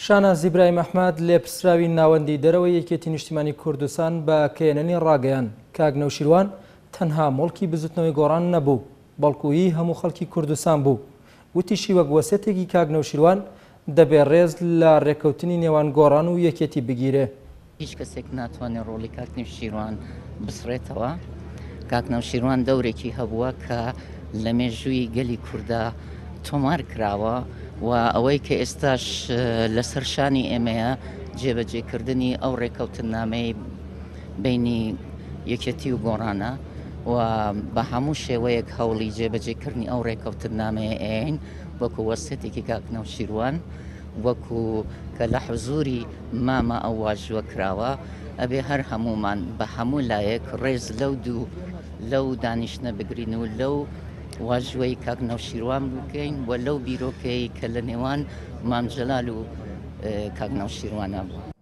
شاناز ئیبراهیم ئەحمەد، لێپرسراوی ناوەندی دەرەوەی یەکێتی نیشتیمانی کوردستان بە کەیەنەنی ڕاگەیاند، کاک نەوشیروان تەنها موڵکی بزوتنەوەی گۆڕان نەبوو، بەڵکو هی هەموو خەڵکی کوردستان بوو. وتیشی وەک وەسێتێکی کاک نەوشیروان دەبێ ڕێز لە ڕێککەوتنی نێوان گۆڕان و یەکێتی بگیرێ. هیچ کەسێک ناتوانێت ڕۆڵی کاک نەوشیروان بسڕێتەوە. کاک نەوشیروان دەورێکی هەبووە کە لە مێژووی گەلی کووردا تۆمار کراوە و ئەوەی کە ئێستاش لەسەر شانی ئێمەیە جێبەجێکردنی ئەو ڕێککەوتننامەی بینی یەکێتی و گۆڕانە و بە هەموو شێوەیەک هەوڵی جێبەجێکردنی ئەو ڕێککەوتننامەیە ئەیەین وەکو وەسێتێکی کاک نەوشیروان وەکو کە لە حزوری مامە ئەو واژووە کراوە، ئەبێ هەر هەموومان بە هەموو لایەک ڕێز لەو دوو لەو دانیشتنە بگرین و لەو واژووەی کاک نەوشیروان بکەین و لەو بیرۆکەی کە لە نێوان مام جەلال و کاک نەوشیروانە بوو.